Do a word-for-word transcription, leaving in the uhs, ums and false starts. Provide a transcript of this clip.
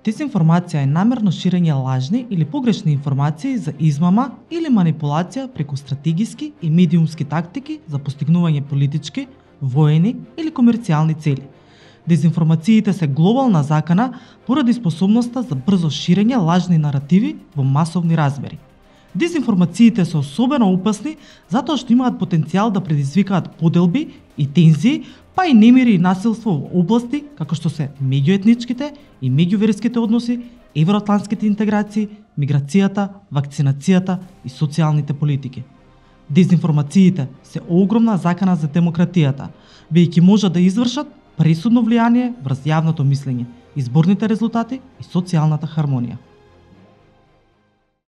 Дезинформација е намерно ширење лажни или погрешни информации за измама или манипулација преку стратегиски и медиумски тактики за постигнување политички, воени или комерцијални цели. Дезинформациите се глобална закана поради способноста за брзо ширење лажни наративи во масовни размери. Дезинформациите се особено опасни затоа што имаат потенцијал да предизвикаат поделби и тензии, па и немири и насилство во области како што се меѓуетничките и меѓуверските односи, евроатлантските интеграции, миграцијата, вакцинацијата и социјалните политики. Дезинформациите се огромна закана за демократијата, бидејќи можат да извршат пресудно влијание врз јавното мислење, изборните резултати и социјалната хармонија.